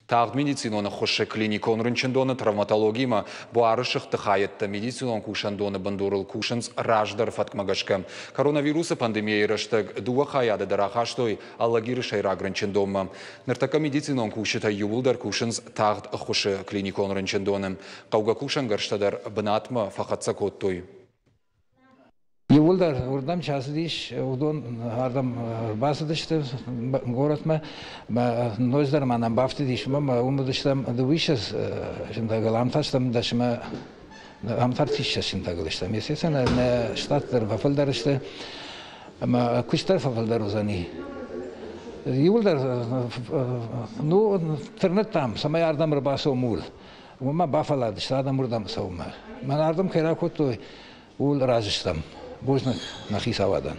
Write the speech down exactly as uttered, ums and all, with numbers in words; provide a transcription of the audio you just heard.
Тагъд медицинон ӕххуысы клиникон рынчындоны травматологимӕ буары сыгъдты хайӕдтӕ медицинон кусӕндоны бындурыл кусынц раздӕр фӕткмӕ гӕсгӕ. Коронавирусы пандемийӕйы рӕстӕг дыууӕ хайады дӕр ахастой Алагиры сӕйраг рынчындонмӕ. Ныртӕккӕ медицинон кусджытӕ иууылдӕр кусынц тагъд ӕххуысы клиникон рынчындоны. Хъӕугӕ кусӕнгӕрзтӕ дӕр бынатмӕ фӕхӕццӕ кодтой. Иууылдӕр уырдӕм чи ацыдис, уыдон ардӕм ӕрбацыдысты горӕтмӕ. Ноджыдӕр ма нӕм бафтыдис, уымӕ уым уыдыстӕм дыууиссӕдз сынтӕгыл, ам та стӕм дӕсмӕ, ам та ӕртиссӕдз сынтӕгыл стӕм. Естественно, нӕ штат дӕр фӕфылдӕр сты ӕмӕ куыст дӕр фӕфылдӕр уыдзӕни. Иууылдӕр ну, тырныдтам, цӕмӕй ардӕм ӕрбацӕуӕм ууыл. Уымӕ бафӕлладысты адӕм уырдӕм цӕуынмӕ. Мӕн ардӕм кӕй ракодтой, ууыл разы стӕм. Бузныг нӕ хицауадӕн.